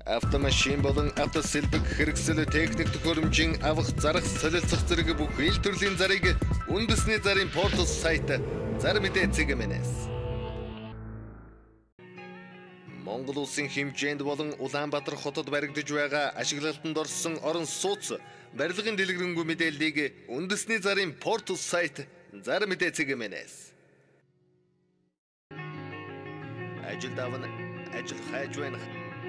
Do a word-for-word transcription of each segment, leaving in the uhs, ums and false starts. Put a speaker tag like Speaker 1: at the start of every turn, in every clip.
Speaker 1: Автомашин болон автосэлбэг хэрэгсэл техник төхөөрөмжийн авах зарах солилцох зэрэг бүх ил төрлийн зарыг үндэсний зарын портал сайт Зар мэдээ цэгмэнэс. Монгол улсын хэмжээнд болон Улаанбаатар хотод баригдаж байгаа ашиглалтанд орсон орон сууц барилгын дэлгэрэнгүй мэдээллийг үндэсний зарын портал сайт Зар мэдээ цэгмэнэс. Ажил даван ажил хайж байна.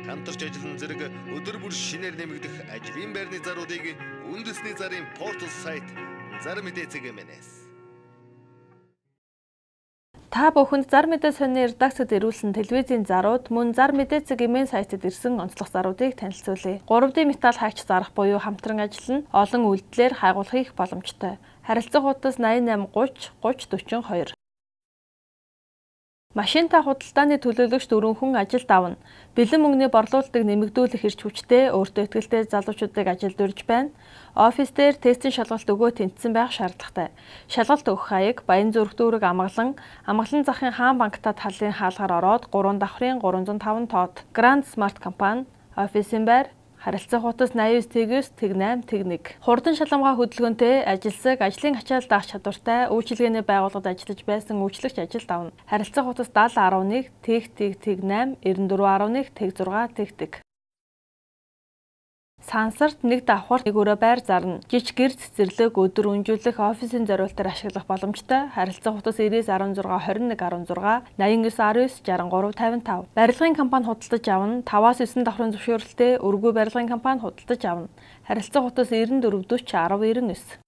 Speaker 1: Хамтарч ажиллан зэрэг өдөр бүр шинээр нэмэгдэх ажлын байрны заруудыг үндэсний зарын портал сайт Зар мэдээ цэгмэнэс.
Speaker 2: Та бүхэнд Зар мэдээ сонины редакцид ирүүлсэн телевизийн зарууд мөн Зар мэдээ цэгмэн сайтад ирсэн онцлог заруудыг танилцуулъя. гурав дэ металл хайч зарах буюу хамтран ажил нь олон үйлдэлээр хайгуулах их боломжтой. Харилцах хуудас найман найман гуйч гуйч дөрвөн хоёр. Машинтай худалдааны төлөөлөгч дөрвөн хүн ажилд авна. Бэлэн мөнгөний борлуулалтыг нэмэгдүүлэх эрч хүчтэй өөртөө ихтэй залуучуудыг ажилд урьж байна. Офис дээр тестийн шалгалт өгөө тэнцсэн байх шаардлагатай. Шалгалт өгөх хаяг Баянзүрх дүүрэг амгалан, амгалан захын хаан банкта талын хаалгаар ороод гурван давхрын гурван зуун таван тоод. Grand Smart компани, офисын байр, харилцах хуудас найман девять тэг восемь тэг нэг. Хурдан шалгамгай хөдөлгөөнтэй ажилсаг, ажлын ачаал даах чадвартай үйлчилгээний байгууллагад ажиллаж байсан үйлчлэгч ажилд авна. Харилцах хуудас семь один нэг тэг тэг тэг восемь девять четыре один тэг шесть тэг тэг. Сансарт нэг давхар нэг өрөө байр зарна. Жиж гэр цэцэрлэг өдөр үнжүүлэх офисын зориултаар ашиглах боломжтой. Харилцах хуудас девять один шесть two one one one шесть найман девять один девять шестьдесят три пятьдесят пять. Барилгын компани худалдаж авна. таваас девять давхрын зөвшөөрөлтэй өргөө барилгын компани худалдаж авна. Харилцах хуудас девять четыре four zero one nine девять.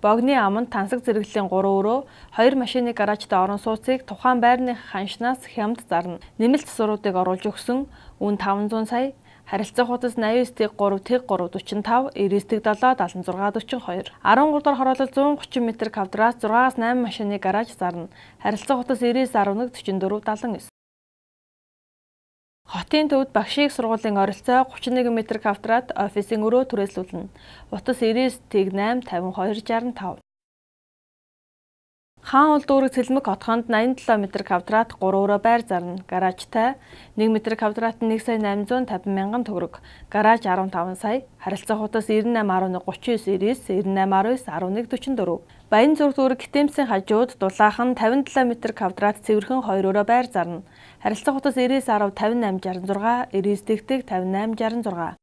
Speaker 2: Богны аманд тансаг зэрэглэлийн гурван өрөө, хоёр машины гаражтай орон сууцыг тухайн байрны ханшнаас хямд зарна. Нэмэлт засваруудыг оруулж өгсөн. Үн five hundred сая. Харилцах хуудас найман тэг три тэг три forty-five, девять тэг seven seventy-six forty-two.13 дахь хороолол one thirty м квадрат six-аас nine машины гараж зарна. Харилцах хуудас девять one one forty-four seventy-nine. Хотын төвд багшийн сургуулийн оролцоо thirty-one м квадрат офисын өрөө түрээслүүлнэ. Утас девять тэг eight fifty-two sixty-five. Хаан ул дүүрэг цэлмэг хотхонд eighty-seven м квадрат three өрөө байр зарна. Гаражтай one м квадрат one сая eight hundred fifty мянган төгрөг. Гараж fifteen сая. Харилцах хуудас ninety-eight one thirty-nine девять ninety-nine one forty-four. Баянзүрх дүүрэг Гитэмсийн хажууд дулаахан fifty-seven м квадрат цэвэрхэн two өрөө байр зарна. Харилцах хуудас ninety ten fifty-eight sixty-six ninety тэг fifty-eight sixty-six.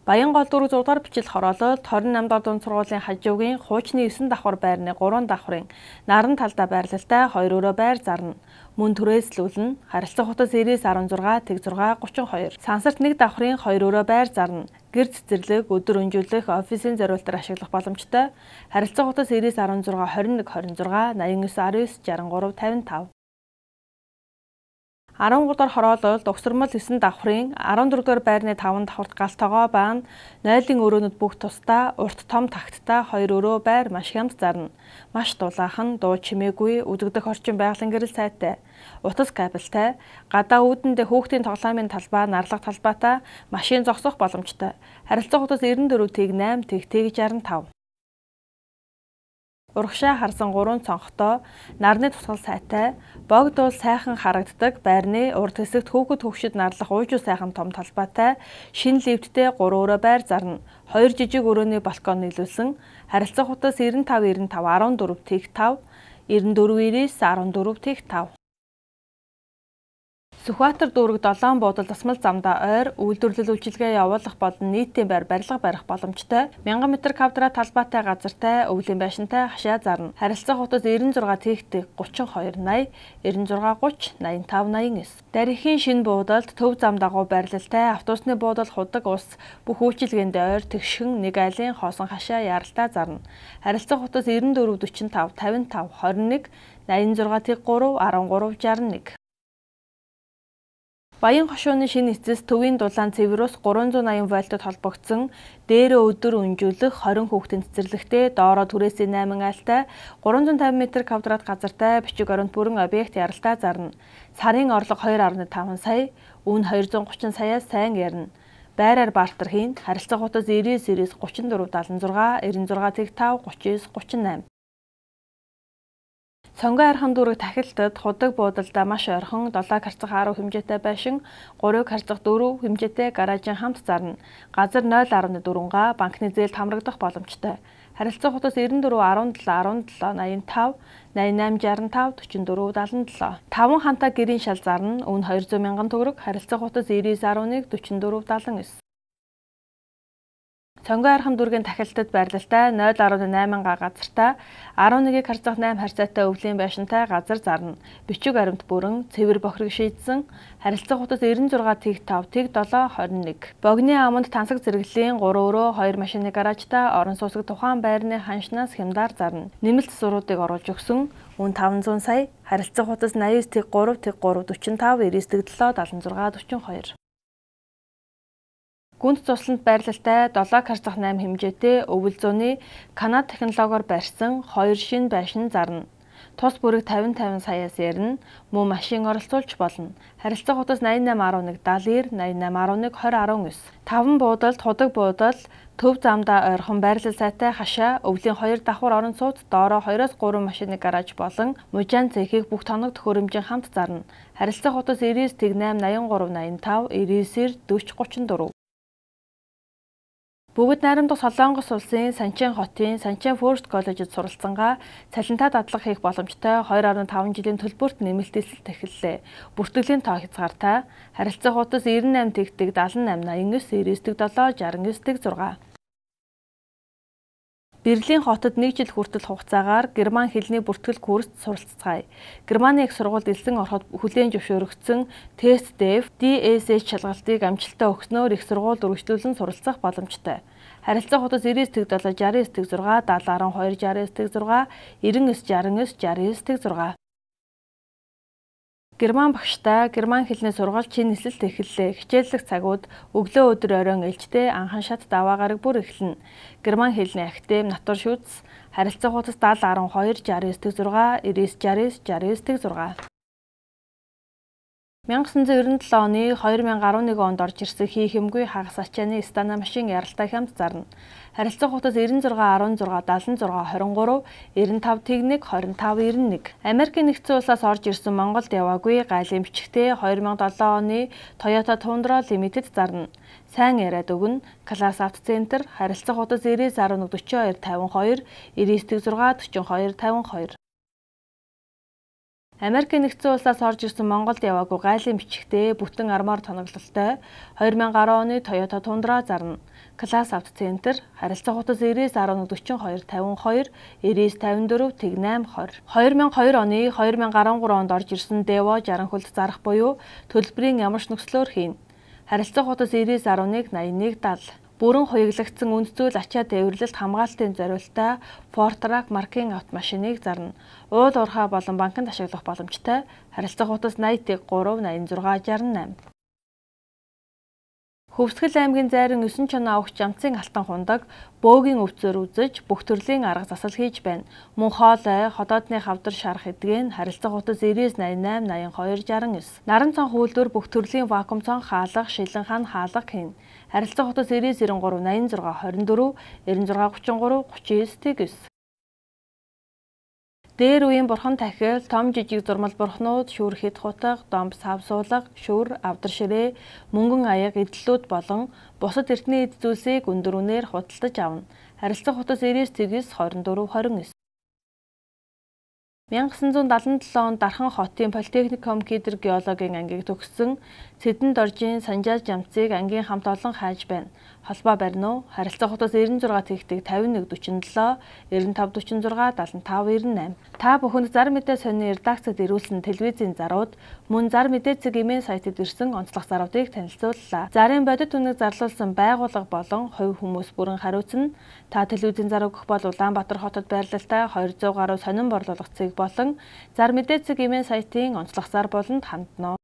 Speaker 2: Баянгол дүүрэг six дахь бичил хороололд twenty-eight дахь дунд сургуулийн хажуугийн хуучны nine давхар байрны three давхрын наран талдаа байрлалтай two өрөө байр зарна. Мөн түрээслүүлнэ. Харилцах хуудас ninety one six тэг six thirty-two. Сансарт нэг давхрын two өрөө байр зарна. Гэр цэцэрлэг өдөр өнжүүлэх офисын зориултаар ашиглах боломжтой. Харилцах хуудас ninety one six twenty-one twenty-six ninety-nine nineteen sixty-three fifty-five.13 дахь хороололд угсармал nine давхрын fourteen дахь байрны five давхарт галт тогоо баан нойлын өрөөнүүд бүх тусдаа урт том тагттай two өрөө байр маш хямд зарна. Маш дулаахан, дуу чимээгүй, үдэгдэх орчин байгалийн гэрэл сайтай. Утас кабелтай, гадаа үүдэндээ хүүхдийн тоглоомын талбай, нарлах талбайтай машин зогсох боломжтой. Харилцах хуудас ninety-four тэг eight тэг тэг sixty-five. Урагшаа харсан гурван цонхтой, нарны тусгал сайтай, богдуул сайхан харагддаг байрны урд хэсэгт хүүхэд хөвгшид нарлах уужуу сайхан том талбайтай, шинэ лифттэй three өрөө байр зарна. Хоёр жижиг өрөөний балкон нийлүүлсэн. Харилцах хуудас ninety-five ninety-five fourteen тэг five, ninety-four ninety fourteen тэг five. Сүхбаатар дүүрэг долоон буудал тасмал замдаа ойр үйлдвэрлэл үйлчилгээ явуулах болон нийтийн байр барилга барих боломжтой one thousand м квадрат талбайтай газартай өвлийн байшинтай хашаа зарна. Харилцах хуудас ninety-six тэг thirty-two ninety, ninety-six thirty, ninety-five ninety-nine. Дарихийн шинэ буудалд төв зам дагуу байрлалтай автобусны буудал худаг ус бүх үйлчилгээндээ ойр тэгшхэн нэг айлын хоосон хашаа яралтай зарна. Харилцах хуудас ninety-four forty-five fifty-five twenty-one ninety-six тэг three thirty-three sixty-one. Баян хошууны шинэ эцэс төвийн дулаан цэврөөс three eighty вольтод холбогдсон дээрээ өдөр үнжүүлэх twenty хүүхдийн цэцэрлэгтэй доороо түрээсийн eight айлтай three hundred fifty м квадрат газартай бичиг оронд бүрэн объект яралтай зарна. Сарын орлого two point five сая, үн two hundred thirty саяас сайн ярина. Байраар бартер хийн. Харилцах хуудас ninety series thirty-four seventy-six ninety-six тэг five thirty-nine thirty-eight. Цонгой архан дүүрэг тахилтад худаг буудалдаа маш ойрхон долоо карцах арав хэмжээтэй байшин, гурав карцах дөрөв хэмжээтэй гаражийн хамт зарна. Газар нуль гаруй дөрвөн га банкны зээлд хамрагдах боломжтой. Харилцаа хутас девяносто четыре, десять, десять, восемьдесят пять, восемь пять, шестьдесят четыре, сорок семь. Таван хантаа гэрийн шал зарна. Үүн двести мянган төгрөг. Харилцаа хутас девяносто один, сорок четыре, семьдесят девять. Цонгой архан дүүргийн тахилтад байрлалтай нуль гаруй восемь га газартаа eleven харьцах eight харьцаатай өвлийн байшинтай газар зарна. Бичиг баримт бүрэн цэвэр бохирог шийдсэн. Харилцаа хутас девяносто шесть, пять, seven, twenty-one. Богны аманд тансаг зэрэглэлийн three өрөө two машины гаражтай орон сууцыг тухайн байрны ханшнаас хямдар зарна. Нэмэлт суруудыг оруулж өгсөн. Үн five hundred сая. Харилцаа хутас ninety-nine, three, three, forty-five, ninety-seven, seventy-seven, forty-two. Гүнт цусланд байрлалтай seven харьцах eight хэмжээтэй өвөл зууны Канада технологиор барьсан two шинэ байшин зарна. Тус бүрэг fifty fifty саяас ярина. Мөн машин оролцуулж болно. Харилцаа хутас ninety-eight eleven, seventy, ninety-eight eleven, twenty, nineteen. Таван буудалд худаг буудал төв замдаа ойрхон байрлал сайтай хашаа өвлийн хоёр давхар орон сууц доороо two-оос three машины гараж болон мужаан цэхийг бүх тоног төхөөрөмжийн хамт зарна. Харилцаа хутас ninety-nine, eighty-three, ninety-five, ninety, forty, thirty. Бүгд найрамдах Солонгос улсын Санчин хотын Санчин First College-д суралцсангаа цалинтай дадлага хийх боломжтой two point five жилийн төлбөрт нэмэлт эсэлт эхэллээ. Бүртгэлийн тоо хязгаартай. Харилцаа хутас ninety-eight тэгтэг seventy-eight, ninety-nine, sixty-nine, sixty-six. Берлин хотод нэг жил хүртэл хугацаагаар герман хэлний бүртгэл курст суралцгаая. Германы их сургуульд элсэн ороход хүлээн зөвшөөрөгдсөн тест ди эф, ди эс эйч шалгалтыг амжилттай өгснөөр их сургуульд үргэлжлүүлэн суралцах боломжтой. Харилцаа хутас ninety-nine, sixty-six, seventy, twelve, sixty-six, ninety-nine, sixty-nine, sixty-six. Герман багштай герман хэлний сургалт шинэ эсэлт эхэллээ. Хичээллэх цагууд өглөө өдөр оройн ээлжтэй анхан шат даваагараг бүр эхэлнэ. Герман хэлний академи натур шүтс харилцаа хутас seventy twelve, sixty-six, ninety-six, sixty-six. nineteen ninety-seven оны two thousand eleven онд орж ирсэн хий хэмгүй хагас ачааны стана машин яралтай хямд зарна. Харилцаа хутас ninety-six, sixteen, seventy-six, twenty-three, ninety-five, техник, twenty-five, ninety-one. Америкийн нэгдсэн улсаас орж ирсэн Монголд яваагүй гайлын бичгтээ two thousand seven оны Toyota Tundra Limited зарна. Сайн яриад өгнө. Class Auto Center харилцаа хутас ninety-one, forty-two, fifty-two, ninety-six, forty-two, fifty-two. Америкийн нэгдсэн улсаас орж ирсэн Монголд яваагүй гайлын бичгтээ бүтэн армаар тоноглолтой two thousand ten оны Toyota Tundra зарна. Class Auto Center харилцаа хутас ninety-one, forty-two, fifty-two, ninety-nine, fifty-four, eighty-eight, twenty. two thousand two оны two thousand thirteen онд орж ирсэн Devo sixty хөлт зарах буюу төлбөрийн ямарч нөхцлөөр хийн. Харилцаа хутас ninety-one, ninety-one, seventy. Бүрэн хуяглагдсан үнд зүйл ачаа дээвэрлэлт хамгаалтын зориулалтаа Fortrack маркийн автомашиныг зарна. Уул уурхай болон банкнд ашиглах боломжтой. Харилцаа хутас ninety-three, ninety-six, sixty-eight. Хөвсгөл аймгийн Зайран nine чоноо авах жамцын алтан хундаг бөөгийн өвцөөр үзэж бүх төрлийн арга засал хийж байна. Мөн хоолой, ходоодны хавдар шарах эдгэн харилцаа хутас ninety-nine, ninety-two, sixty-nine. Наран цонх үйлдвэр бүх төрлийн вакуум цонх хаалга, шилэн хан хаалга хийн. Харилцаа хутас ninety-three, ninety-six, twenty-four, ninety-six, thirty-nine, thirty-six. Дээр үеийн бурхан тахил, том жижиг зурмал бурхнууд, шүүр хэд хутаг, домб сав суулга, шүүр, авдар ширээ, мөнгөн аяг эдлүүд болон бусад эртний эд зүйлсийг өндөр үнээр худалдаж авна. Харилцаа хутас ninety-six, twenty-four, twenty-nine. nineteen seventy-seven онд Дархан хотын Политехник компьютер геологийн ангийг төгссөн Цэдэн доржийн Санжаа жамцыг ангийн хамт олон хайж байна. Холбоо барина уу? Харилцаа хутас ninety-six тэгтэг fifty-one, forty-seven, ninety-five, forty-six, seventy-five, ninety-eight. Та бүхэнд зар мэдээ сонины редакцид ирүүлсэн телевизийн зарууд мөн зар мэдээ цэг имэйл сайтад ирсэн онцлог заруудыг танилцууллаа. Зарын бодит үнэг зарлуулсан байгууллага болон хувь хүмүүс бүрэн хариуцна. Та телевизийн зар өгөх бол Улаанбаатар хотод байрлалтай two hundred гаруй сонин борлуулах цэг болон зар мэдээ цэг имэйл сайтын онцлог зар болонд хандна.